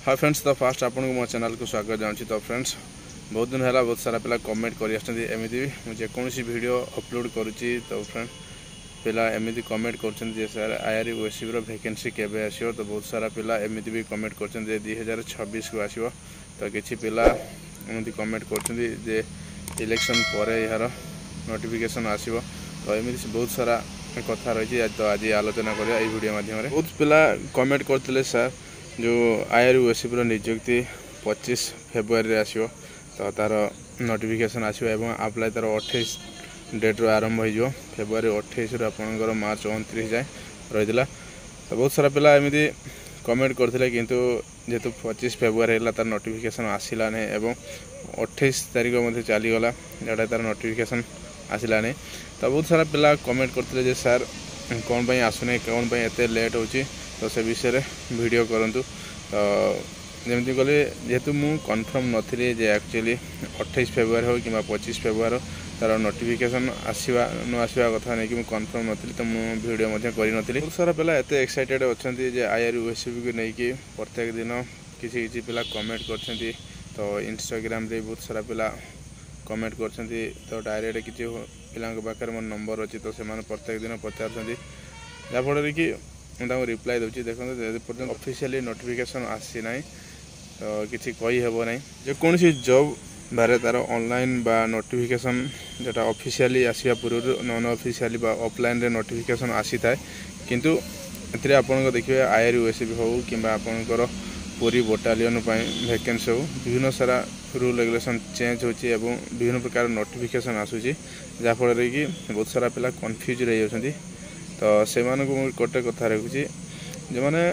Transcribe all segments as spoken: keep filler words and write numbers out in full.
ହାଏ friends, ତ first ଆପଣଙ୍କୁ ମୋ ଚ୍ୟାନେଲକୁ ସ୍ୱାଗତ ଜଣାଉଛି। ତ ଫ୍ରେଣ୍ଡସ୍, ବହୁତ ଦିନ ହେଲା ବହୁତ ସାରା ପିଲା କମେଣ୍ଟ କରି ଆସୁଛନ୍ତି। ଏମିତି ବି ମୁଁ ଯେକୌଣସି ଭିଡ଼ିଓ ଅପଲୋଡ଼ କରୁଛି, ତ ଫ୍ରେଣ୍ଡ ପିଲା ଏମିତି କମେଣ୍ଟ କରୁଛନ୍ତି ଯେ ସାର୍, I R ଓଏସଏବିର ଭେକେନ୍ସି କେବେ ଆସିବ? ତ ବହୁତ ସାରା ପିଲା ଏମିତି ବି କମେଣ୍ଟ କରୁଛନ୍ତି ଯେ ଦୁଇ ହଜାର ଛବିଶକୁ ଆସିବ। ତ କିଛି ପିଲା ଏମିତି କମେଣ୍ଟ କରୁଛନ୍ତି ଯେ ଇଲେକ୍ସନ୍ ପରେ ଏହାର ନୋଟିଫିକେସନ୍ ଆସିବ। ତ ଏମିତି ବହୁତ ସାରା କଥା ରହିଛି, ତ ଆଜି ଆଲୋଚନା କରିବା ଏଇ ଭିଡ଼ିଓ ମାଧ୍ୟମରେ। ବହୁତ ପିଲା କମେଣ୍ଟ କରିଥିଲେ, ସାର୍, ଯେଉଁ I R ଓଏସଏବିର ନିଯୁକ୍ତି ପଚିଶ ଫେବୃଆରୀରେ ଆସିବ, ତ ତା'ର ନୋଟିଫିକେସନ୍ ଆସିବ ଏବଂ ଆପ୍ଲାଏ ତା'ର ଅଠେଇଶ ଡେଟ୍ରୁ ଆରମ୍ଭ ହୋଇଯିବ। ଫେବୃଆରୀ ଅଠେଇଶରୁ ଆପଣଙ୍କର ମାର୍ଚ୍ଚ ଅଣତିରିଶ ଯାଏଁ ରହିଥିଲା। ତ ବହୁତ ସାରା ପିଲା ଏମିତି କମେଣ୍ଟ କରିଥିଲେ, କିନ୍ତୁ ଯେହେତୁ ପଚିଶ ଫେବୃଆରୀ ହେଲା, ତା'ର ନୋଟିଫିକେସନ୍ ଆସିଲା ନାହିଁ ଏବଂ ଅଠେଇଶ ତାରିଖ ମଧ୍ୟ ଚାଲିଗଲା, ଯେଉଁଟା ତା'ର ନୋଟିଫିକେସନ୍ ଆସିଲା ନାହିଁ। ତ ବହୁତ ସାରା ପିଲା କମେଣ୍ଟ କରିଥିଲେ ଯେ ସାର୍, କ'ଣ ପାଇଁ ଆସୁନାହିଁ, କ'ଣ ପାଇଁ ଏତେ ଲେଟ୍ ହେଉଛି, ତ ସେ ବିଷୟରେ ଭିଡ଼ିଓ କରନ୍ତୁ। ତ ଯେମିତି କହିଲି, ଯେହେତୁ ମୁଁ କନଫର୍ମ ନଥିଲି ଯେ ଆକ୍ଚୁଆଲି ଅଠେଇଶ ଫେବୃଆରୀ ହେଉ କିମ୍ବା ପଚିଶ ଫେବୃଆରୀ ତା'ର ନୋଟିଫିକେସନ୍ ଆସିବା ନ ଆସିବା କଥା ନେଇକି ମୁଁ କନଫର୍ମ ନଥିଲି, ତ ମୁଁ ଭିଡ଼ିଓ ମଧ୍ୟ କରିନଥିଲି। ବହୁତ ସାରା ପିଲା ଏତେ ଏକ୍ସାଇଟେଡ଼ ଅଛନ୍ତି ଯେ I R ଓଏସଏବିକୁ ନେଇକି ପ୍ରତ୍ୟେକ ଦିନ କିଛି କିଛି ପିଲା କମେଣ୍ଟ କରିଛନ୍ତି। ତ ଇନଷ୍ଟାଗ୍ରାମରେ ବହୁତ ସାରା ପିଲା କମେଣ୍ଟ କରିଛନ୍ତି। ତ ଡାଇରେକ୍ଟ କିଛି ପିଲାଙ୍କ ପାଖରେ ମୋର ନମ୍ବର ଅଛି, ତ ସେମାନେ ପ୍ରତ୍ୟେକ ଦିନ ପଚାରୁଛନ୍ତି, ଯାହାଫଳରେ କି ମୁଁ ତାଙ୍କୁ ରିପ୍ଲାଏ ଦେଉଛି। ଦେଖନ୍ତୁ, ଯେ ପର୍ଯ୍ୟନ୍ତ ଅଫିସିଆଲି ନୋଟିଫିକେସନ୍ ଆସିନାହିଁ, ତ କିଛି କହିହେବ ନାହିଁ। ଯେକୌଣସି ଜବ୍ ବାହାରେ, ତା'ର ଅନଲାଇନ୍ ବା ନୋଟିଫିକେସନ୍ ଯେଉଁଟା ଅଫିସିଆଲି ଆସିବା ପୂର୍ବରୁ ନନ୍ ଅଫିସିଆଲି ବା ଅଫଲାଇନ୍ରେ ନୋଟିଫିକେସନ୍ ଆସିଥାଏ। କିନ୍ତୁ ଏଥିରେ ଆପଣଙ୍କ ଦେଖିବେ, I R ଓଏସଏବି ହେଉ କିମ୍ବା ଆପଣଙ୍କର ପୁରୀ ବଟାଲିୟନ୍ ପାଇଁ ଭେକେନ୍ସି ହେଉ, ବିଭିନ୍ନ ସାରା ରୁଲ୍ ରେଗୁଲେସନ୍ ଚେଞ୍ଜ ହେଉଛି ଏବଂ ବିଭିନ୍ନ ପ୍ରକାର ନୋଟିଫିକେସନ୍ ଆସୁଛି, ଯାହାଫଳରେ କି ବହୁତ ସାରା ପିଲା କନଫ୍ୟୁଜ୍ ରହିଯାଉଛନ୍ତି। ତ ସେମାନଙ୍କୁ ମୁଁ ଗୋଟେ କଥା ରଖୁଛି, ଯେଉଁମାନେ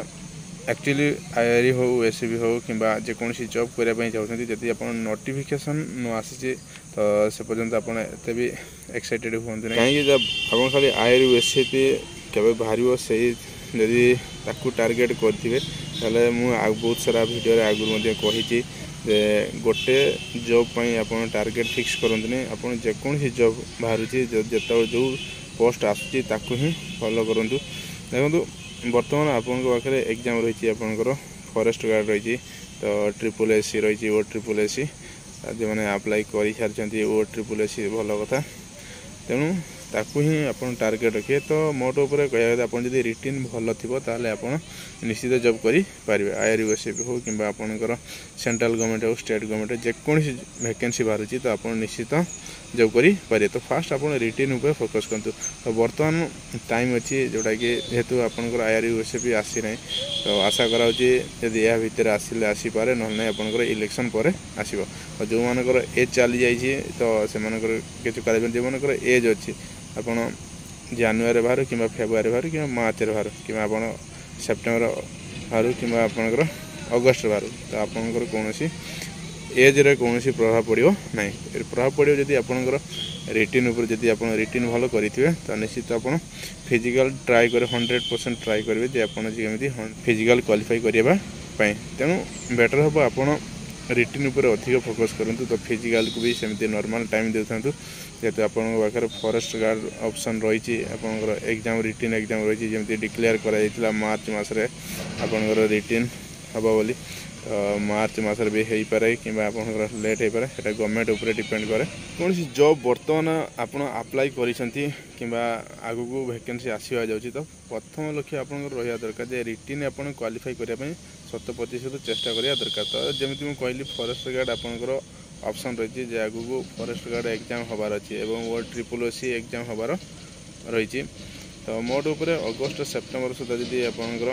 ଆକ୍ଚୁଆଲି I R ହଉ, ଏସ୍ ବି ହଉ କିମ୍ବା ଯେକୌଣସି ଜବ୍ କରିବା ପାଇଁ ଚାହୁଁଛନ୍ତି, ଯଦି ଆପଣ ନୋଟିଫିକେସନ୍ ନ ଆସିଛି, ତ ସେ ପର୍ଯ୍ୟନ୍ତ ଆପଣ ଏତେ ବି ଏକ୍ସାଇଟେଡ଼ ହୁଅନ୍ତୁ ନାହିଁ। କାହିଁକି ଆପଣ ଖାଲି I R S B କେବେ ବାହାରିବ, ସେଇ ଯଦି ତାକୁ ଟାର୍ଗେଟ୍ କରିଥିବେ, ତାହେଲେ ମୁଁ ଆଉ ବହୁତ ସାରା ଭିଡ଼ିଓରେ ଆଗରୁ ମଧ୍ୟ କହିଛି ଯେ ଗୋଟେ ଜବ୍ ପାଇଁ ଆପଣ ଟାର୍ଗେଟ୍ ଫିକ୍ସ କରନ୍ତୁନି। ଆପଣ ଯେକୌଣସି ଜବ୍ ବାହାରୁଛି, ଯେତେବେଳେ ଯେଉଁ ପୋଷ୍ଟ ଆସୁଛି, ତାକୁ ହିଁ ଫଲୋ କରନ୍ତୁ। ଦେଖନ୍ତୁ, ବର୍ତ୍ତମାନ ଆପଣଙ୍କ ପାଖରେ ଏକ୍ଜାମ୍ ରହିଛି, ଆପଣଙ୍କର ଫରେଷ୍ଟ ଗାର୍ଡ଼ ରହିଛି, ତ ଟ୍ରିପୁଲ୍ ଏସ୍ ସି ରହିଛି, ଓ ଟ୍ରିପୁଲ୍ ଏସ୍ ସି। ଯେଉଁମାନେ ଆପ୍ଲାଏ କରିସାରିଛନ୍ତି ଓ ଟ୍ରିପୁଲ୍ ଏସ୍ ସି, ଭଲ କଥା। ତେଣୁ ତାକୁ ହିଁ ଆପଣ ଟାର୍ଗେଟ୍ ରଖିବେ। ତ ମୋଟ ଉପରେ କହିବା କଥା, ଆପଣ ଯଦି ରିଟିନ୍ ଭଲ ଥିବ, ତାହେଲେ ଆପଣ ନିଶ୍ଚିତ ଜବ୍ କରିପାରିବେ। I R S B ହେଉ କିମ୍ବା ଆପଣଙ୍କର ସେଣ୍ଟ୍ରାଲ୍ ଗଭର୍ଣ୍ଣମେଣ୍ଟ ହେଉ, ଷ୍ଟେଟ୍ ଗଭର୍ଣ୍ଣମେଣ୍ଟ, ଯେକୌଣସି ଭେକେନ୍ସି ବାହାରୁଛି, ତ ଆପଣ ନିଶ୍ଚିତ ଜବ୍ କରିପାରିବେ। ତ ଫାଷ୍ଟ ଆପଣ ରିଟିନ୍ ଉପରେ ଫୋକସ୍ କରନ୍ତୁ। ତ ବର୍ତ୍ତମାନ ଟାଇମ୍ ଅଛି, ଯେଉଁଟାକି ଯେହେତୁ ଆପଣଙ୍କର I R S B ଆସିନାହିଁ, ତ ଆଶା କରାଯାଉଛି ଯଦି ଏହା ଭିତରେ ଆସିଲେ ଆସିପାରେ, ନହେଲେ ନାହିଁ ଆପଣଙ୍କର ଇଲେକ୍ସନ୍ ପରେ ଆସିବ। ତ ଯେଉଁମାନଙ୍କର ଏଜ୍ ଚାଲିଯାଇଛି, ତ ସେମାନଙ୍କର କିଛି କରାଯିବନି। ଯେଉଁମାନଙ୍କର ଏଜ୍ ଅଛି, ଆପଣ ଜାନୁଆରୀ ବାହାରୁ କିମ୍ବା ଫେବୃଆରୀ ବାହାରୁ କିମ୍ବା ମାର୍ଚ୍ଚରେ ବାହାରୁ କିମ୍ବା ଆପଣ ସେପ୍ଟେମ୍ବର ବାହାରୁ କିମ୍ବା ଆପଣଙ୍କର ଅଗଷ୍ଟରେ ବାହାରୁ, ତ ଆପଣଙ୍କର କୌଣସି ଏଜ୍ରେ କୌଣସି ପ୍ରଭାବ ପଡ଼ିବ ନାହିଁ। ପ୍ରଭାବ ପଡ଼ିବ ଯଦି ଆପଣଙ୍କର ରିଟିନ୍ ଉପରେ। ଯଦି ଆପଣ ରିଟିନ୍ ଭଲ କରିଥିବେ, ତ ନିଶ୍ଚିତ ଆପଣ ଫିଜିକାଲ୍ ଟ୍ରାଏ କରିବେ, ହଣ୍ଡ୍ରେଡ଼ ପରସେଣ୍ଟ ଟ୍ରାଏ କରିବେ ଯେ ଆପଣ ଯେମିତି ଫିଜିକାଲ୍ କ୍ୱାଲିଫାଇ କରିବା ପାଇଁ। ତେଣୁ ବେଟର୍ ହେବ ଆପଣ ରିଟିନ୍ ଉପରେ ଅଧିକ ଫୋକସ୍ କରନ୍ତୁ, ତ ଫିଜିକାଲ୍କୁ ବି ସେମିତି ନର୍ମାଲ୍ ଟାଇମ୍ ଦେଉଥାନ୍ତୁ। ଯେହେତୁ ଆପଣଙ୍କ ପାଖରେ ଫରେଷ୍ଟ ଗାର୍ଡ଼ ଅପସନ୍ ରହିଛି, ଆପଣଙ୍କର ଏକ୍ଜାମ୍ ରିଟିନ୍ ଏକ୍ଜାମ୍ ରହିଛି, ଯେମିତି ଡିକ୍ଲେୟାର କରାଯାଇଥିଲା ମାର୍ଚ୍ଚ ମାସରେ ଆପଣଙ୍କର ରିଟିନ୍ ହେବ ବୋଲି, ତ ମାର୍ଚ୍ଚ ମାସରେ ବି ହେଇପାରେ କିମ୍ବା ଆପଣଙ୍କର ଲେଟ୍ ହେଇପାରେ, ସେଇଟା ଗଭର୍ଣ୍ଣମେଣ୍ଟ ଉପରେ ଡିପେଣ୍ଡ କରେ। କୌଣସି ଜବ୍ ବର୍ତ୍ତମାନ ଆପଣ ଆପ୍ଲାଏ କରିଛନ୍ତି କିମ୍ବା ଆଗକୁ ଭେକେନ୍ସି ଆସିବା ଯାଉଛି, ତ ପ୍ରଥମ ଲକ୍ଷ୍ୟ ଆପଣଙ୍କର ରହିବା ଦରକାର ଯେ ରିଟିନ୍ ଆପଣ କ୍ୱାଲିଫାଇ କରିବା ପାଇଁ ଶତ ପ୍ରତିଶତ ଚେଷ୍ଟା କରିବା ଦରକାର। ତ ଯେମିତି ମୁଁ କହିଲି, ଫରେଷ୍ଟ ଗାର୍ଡ଼ ଆପଣଙ୍କର ଅପସନ୍ ରହିଛି ଯେ ଆଗକୁ ଫରେଷ୍ଟ ଗାର୍ଡ଼ ଏକ୍ଜାମ୍ ହେବାର ଅଛି ଏବଂ ଓ ଟ୍ରିପୁଲ୍ ସି ଏକ୍ଜାମ୍ ହେବାର ରହିଛି। ତ ମୋଟ ଉପରେ ଅଗଷ୍ଟ ସେପ୍ଟେମ୍ବର ସୁଦ୍ଧା ଯଦି ଆପଣଙ୍କର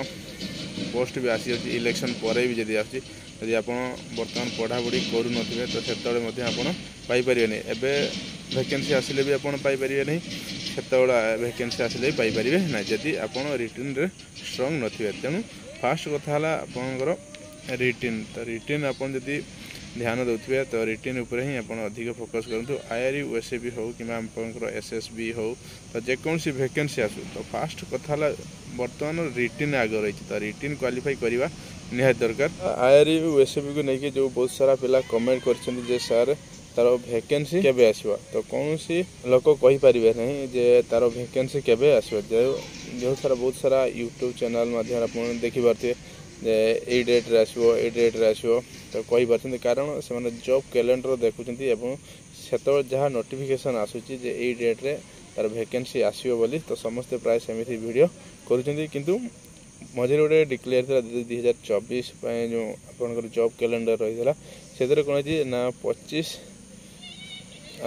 ପୋଷ୍ଟ ବି ଆସିଯାଉଛି, ଇଲେକ୍ସନ୍ ପରେ ବି ଯଦି ଆସୁଛି, ଯଦି ଆପଣ ବର୍ତ୍ତମାନ ପଢ଼ାପଢ଼ି କରୁନଥିବେ, ତ ସେତେବେଳେ ମଧ୍ୟ ଆପଣ ପାଇପାରିବେନି। ଏବେ ଭେକେନ୍ସି ଆସିଲେ ବି ଆପଣ ପାଇପାରିବେ ନାହିଁ, ସେତେବେଳେ ଭେକେନ୍ସି ଆସିଲେ ବି ପାଇପାରିବେ ନାହିଁ, ଯଦି ଆପଣ ରିଟିନ୍ରେ ଷ୍ଟ୍ରଙ୍ଗ ନଥିବେ। ତେଣୁ ଫାଷ୍ଟ କଥା ହେଲା ଆପଣଙ୍କର ରିଟିନ୍। ତ ରିଟିନ୍ ଆପଣ ଯଦି ଧ୍ୟାନ ଦେଉଥିବେ, ତ ରିଟିନ୍ ଉପରେ ହିଁ ଆପଣ ଅଧିକ ଫୋକସ୍ କରନ୍ତୁ। I R U S A ବି ହେଉ କିମ୍ବା ଆପଣଙ୍କର ଏସ୍ ଏସ୍ ବି ହେଉ, ତ ଯେକୌଣସି ଭେକେନ୍ସି ଆସୁ, ତ ଫାଷ୍ଟ କଥା ହେଲା ବର୍ତ୍ତମାନ ରିଟିନ୍ ଆଗ ରହିଛି, ତ ରିଟିନ୍ କ୍ୱାଲିଫାଇ କରିବା ନିହାତି ଦରକାର। I R U S ବିକୁ ନେଇକି ଯେଉଁ ବହୁତ ସାରା ପିଲା କମେଣ୍ଟ କରିଛନ୍ତି ଯେ ସାର୍, ତାର ଭେକେନ୍ସି କେବେ ଆସିବ, ତ କୌଣସି ଲୋକ କହିପାରିବେ ନାହିଁ ଯେ ତାର ଭେକେନ୍ସି କେବେ ଆସିବ। ଯେଉଁ ଯେଉଁ ସାରା ବହୁତ ସାରା ୟୁଟ୍ୟୁବ୍ ଚ୍ୟାନେଲ୍ ମାଧ୍ୟମରେ ଆପଣ ଦେଖିପାରୁଥିବେ ଯେ ଏଇ ଡେଟ୍ରେ ଆସିବ ଏଇ ଡେଟ୍ରେ ଆସିବ ତ କହିପାରୁଛନ୍ତି କାରଣ ସେମାନେ ଜବ୍ କ୍ୟାଲେଣ୍ଡର ଦେଖୁଛନ୍ତି ଏବଂ ସେତେବେଳେ ଯାହା ନୋଟିଫିକେସନ୍ ଆସୁଛି ଯେ ଏଇ ଡେଟ୍ରେ ତାର ଭେକେନ୍ସି ଆସିବ ବୋଲି ତ ସମସ୍ତେ ପ୍ରାୟ ସେମିତି ଭିଡ଼ିଓ କରୁଛନ୍ତି କିନ୍ତୁ ମଝିରେ ଗୋଟେ ଡିକ୍ଲେୟାର ଥିଲା ଦୁଇ ହଜାର ଚବିଶ ପାଇଁ ଯେଉଁ ଆପଣଙ୍କର ଜବ୍ କ୍ୟାଲେଣ୍ଡର ରହିଥିଲା ସେଥିରେ କ'ଣ ହେଇଛି ନା ପଚିଶ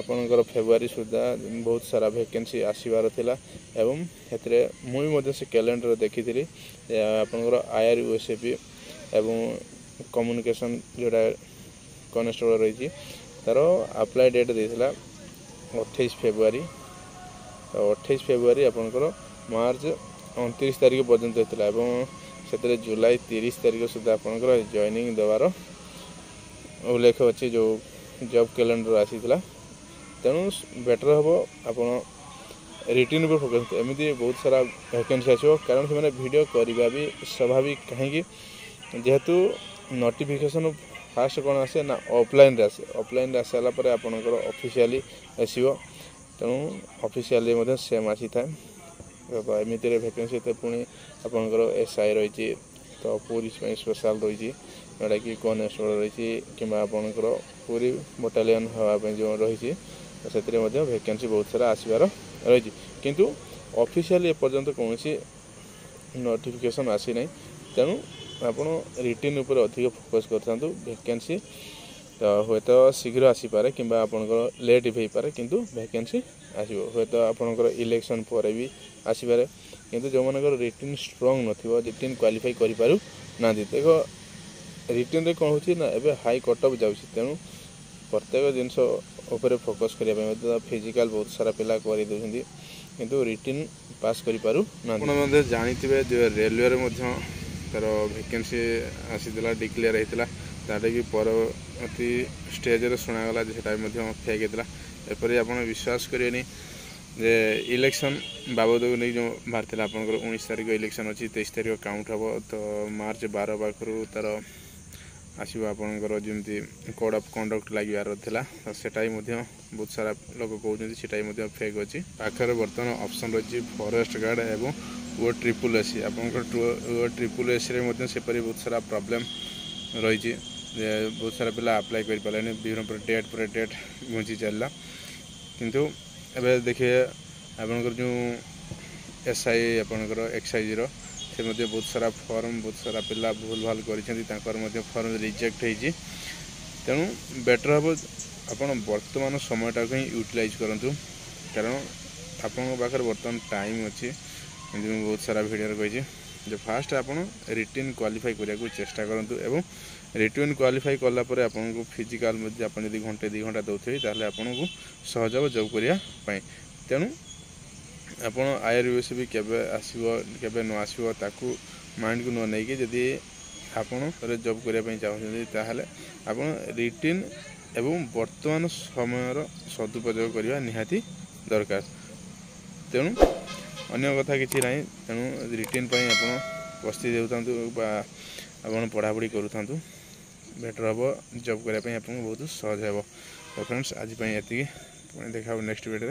ଆପଣଙ୍କର ଫେବୃଆରୀ ସୁଦ୍ଧା ବହୁତ ସାରା ଭେକେନ୍ସି ଆସିବାର ଥିଲା ଏବଂ ସେଥିରେ ମୁଁ ବି ମଧ୍ୟ ସେ କ୍ୟାଲେଣ୍ଡର ଦେଖିଥିଲି ଆପଣଙ୍କର I R U S A P ଏବଂ କମ୍ୟୁନିକେସନ୍ ଯେଉଁଟା କନେଷ୍ଟବଳ ରହିଛି ତା'ର ଆପ୍ଲାଏ ଡେଟ୍ ଦେଇଥିଲା ଅଠେଇଶ ଫେବୃଆରୀ ତ ଅଠେଇଶ ଫେବୃଆରୀ ଆପଣଙ୍କର ମାର୍ଚ୍ଚ ଅଣତିରିଶ ତାରିଖ ପର୍ଯ୍ୟନ୍ତ ହେଇଥିଲା ଏବଂ ସେଥିରେ ଜୁଲାଇ ତିରିଶ ତାରିଖ ସୁଦ୍ଧା ଆପଣଙ୍କର ଜଏନିଂ ଦେବାର ଉଲ୍ଲେଖ ଅଛି ଯେଉଁ ଜବ୍ କ୍ୟାଲେଣ୍ଡର ଆସିଥିଲା ତେଣୁ ବେଟର୍ ହେବ ଆପଣ ରିଟିନ୍ ଉପରେ ଫୋକସ୍ ଏମିତି ବହୁତ ସାରା ଭ୍ୟାକେନ୍ସି ଆସିବ କାରଣ ସେମାନେ ଭିଡ଼ିଓ କରିବା ବି ସ୍ୱାଭାବିକ କାହିଁକି ଯେହେତୁ ନୋଟିଫିକେସନ୍ ଫାଷ୍ଟ କ'ଣ ଆସେ ନା ଅଫଲାଇନ୍ରେ ଆସେ ଅଫଲାଇନ୍ରେ ଆସିସାରିଲା ପରେ ଆପଣଙ୍କର ଅଫିସିଆଲି ଆସିବ ତେଣୁ ଅଫିସିଆଲି ମଧ୍ୟ ସେମ୍ ଆସିଥାଏ ତ ଏମିତିରେ ଭ୍ୟାକେନ୍ସି ଏତେ ପୁଣି ଆପଣଙ୍କର ଏସ୍ I ରହିଛି ତ ପୋଲିସ ପାଇଁ ସ୍ପେଶାଲ୍ ରହିଛି ଯେଉଁଟାକି କନେଷ୍ଟବଳ ରହିଛି କିମ୍ବା ଆପଣଙ୍କର ପୁରୀ ବଟାଲିୟନ୍ ହେବା ପାଇଁ ଯେଉଁ ରହିଛି ତ ସେଥିରେ ମଧ୍ୟ ଭ୍ୟାକେନ୍ସି ବହୁତ ସାରା ଆସିବାର ରହିଛି କିନ୍ତୁ ଅଫିସିଆଲି ଏପର୍ଯ୍ୟନ୍ତ କୌଣସି ନୋଟିଫିକେସନ୍ ଆସିନାହିଁ ତେଣୁ ଆପଣ ରିଟିନ୍ ଉପରେ ଅଧିକ ଫୋକସ୍ କରିଥାନ୍ତୁ ଭ୍ୟାକେନ୍ସି ତ ହୁଏତ ଶୀଘ୍ର ଆସିପାରେ କିମ୍ବା ଆପଣଙ୍କର ଲେଟ୍ ବି ହେଇପାରେ କିନ୍ତୁ ଭ୍ୟାକେନ୍ସି ଆସିବ ହୁଏତ ଆପଣଙ୍କର ଇଲେକ୍ସନ୍ ପରେ ବି ଆସିପାରେ କିନ୍ତୁ ଯେଉଁମାନଙ୍କର ରିଟିନ୍ ଷ୍ଟ୍ରଙ୍ଗ ନଥିବ ରିଟିନ୍ କ୍ୱାଲିଫାଇ କରିପାରୁନାହାନ୍ତି ଦେଖ ରିଟିନ୍ରେ କ'ଣ ହେଉଛି ନା ଏବେ ହାଇ କଟ୍ ଅଫ୍ ଯାଉଛି ତେଣୁ ପ୍ରତ୍ୟେକ ଜିନିଷ ଉପରେ ଫୋକସ୍ କରିବା ପାଇଁ ମଧ୍ୟ ଫିଜିକାଲ୍ ବହୁତ ସାରା ପିଲା କରିଦେଉଛନ୍ତି କିନ୍ତୁ ରିଟିନ୍ ପାସ୍ କରିପାରୁନାହାନ୍ତି ଆପଣ ମଧ୍ୟ ଜାଣିଥିବେ ଯେ ରେଲୱେରେ ମଧ୍ୟ ତା'ର ଭେକେନ୍ସି ଆସିଥିଲା ଡିକ୍ଲେୟାର ହେଇଥିଲା ତାଟା ବି ପରବର୍ତ୍ତୀ ଷ୍ଟେଜ୍ରେ ଶୁଣାଗଲା ଯେ ସେଟା ବି ମଧ୍ୟ ଫେକ୍ ହେଇଥିଲା ଏପରି ଆପଣ ବିଶ୍ୱାସ କରିବେନି ଯେ ଇଲେକ୍ସନ୍ ବାବଦକୁ ନେଇ ଯେଉଁ ବାହାରିଥିଲା ଆପଣଙ୍କର ଉଣେଇଶ ତାରିଖ ଇଲେକ୍ସନ୍ ଅଛି ତେଇଶ ତାରିଖ କାଉଣ୍ଟ ହେବ ତ ମାର୍ଚ୍ଚ ବାର ପାଖରୁ ତା'ର ଆସିବ ଆପଣଙ୍କର ଯେମିତି କୋଡ଼୍ ଅଫ୍ କଣ୍ଡକ୍ଟ ଲାଗିବାର ଥିଲା ତ ସେଟା ବି ମଧ୍ୟ ବହୁତ ସାରା ଲୋକ କହୁଛନ୍ତି ସେଟା ବି ମଧ୍ୟ ଫେକ୍ ଅଛି ପାଖରେ ବର୍ତ୍ତମାନ ଅପସନ୍ ରହିଛି ଫରେଷ୍ଟ ଗାର୍ଡ଼ ଏବଂ ଓ ଟ୍ରିପୁଲ୍ ଏସ୍ ଆପଣଙ୍କର ଓ ଟ୍ରିପୁଲ୍ ଏସ୍ରେ ମଧ୍ୟ ସେପରି ବହୁତ ସାରା ପ୍ରୋବ୍ଲେମ୍ ରହିଛି ଯେ ବହୁତ ସାରା ପିଲା ଆପ୍ଲାଏ କରିପାରିଲେନି ବିଭିନ୍ନ ପ୍ରକାର ଡେଟ୍ ପରେ ଡେଟ୍ ଘୁଞ୍ଚି ଚାଲିଲା କିନ୍ତୁ ଏବେ ଦେଖିବେ ଆପଣଙ୍କର ଯେଉଁ ଏସ୍ I ଆପଣଙ୍କର ଏକ୍ସାଇଜ୍ର ସେ ମଧ୍ୟ ବହୁତ ସାରା ଫର୍ମ ବହୁତ ସାରା ପିଲା ଭୁଲ ଭାଲ କରିଛନ୍ତି ତାଙ୍କର ମଧ୍ୟ ଫର୍ମ ରିଜେକ୍ଟ ହେଇଛି ତେଣୁ ବେଟର୍ ହେବ ଆପଣ ବର୍ତ୍ତମାନ ସମୟଟାକୁ ହିଁ ୟୁଟିଲାଇଜ୍ କରନ୍ତୁ କାରଣ ଆପଣଙ୍କ ପାଖରେ ବର୍ତ୍ତମାନ ଟାଇମ୍ ଅଛି ଏମିତି ମୁଁ ବହୁତ ସାରା ଭିଡ଼ିଓରେ କହିଛି ଯେ ଫାଷ୍ଟ ଆପଣ ରିଟିନ୍ କ୍ୱାଲିଫାଇ କରିବାକୁ ଚେଷ୍ଟା କରନ୍ତୁ ଏବଂ ରିଟିନ୍ କ୍ୱାଲିଫାଇ କଲା ପରେ ଆପଣଙ୍କୁ ଫିଜିକାଲ୍ ମଧ୍ୟ ଆପଣ ଯଦି ଘଣ୍ଟେ ଦୁଇ ଘଣ୍ଟା ଦେଉଥିବେ ତାହେଲେ ଆପଣଙ୍କୁ ସହଜ ହେବ ଜବ୍ କରିବା ପାଇଁ ତେଣୁ ଆପଣ I R U S B କେବେ ଆସିବ କେବେ ନ ଆସିବ ତାକୁ ମାଇଣ୍ଡକୁ ନ ନେଇକି ଯଦି ଆପଣ ଜବ୍ କରିବା ପାଇଁ ଚାହୁଁଛନ୍ତି ତାହେଲେ ଆପଣ ରିଟିନ୍ ଏବଂ ବର୍ତ୍ତମାନ ସମୟର ସଦୁପଯୋଗ କରିବା ନିହାତି ଦରକାର ତେଣୁ ଅନ୍ୟ କଥା କିଛି ନାହିଁ ତେଣୁ ରିଟିନ୍ ପାଇଁ ଆପଣ ପ୍ରସ୍ତୁତି ହେଉଥାନ୍ତୁ ବା ଆପଣ ପଢ଼ାପଢ଼ି କରୁଥାନ୍ତୁ ବେଟର୍ ହେବ ଜବ୍ କରିବା ପାଇଁ ଆପଣଙ୍କୁ ବହୁତ ସହଜ ହେବ ତ ଫ୍ରେଣ୍ଡସ୍ ଆଜି ପାଇଁ ଏତିକି ପୁଣି ଦେଖା ହେବ ନେକ୍ସଟ ଭିଡ଼ିଓରେ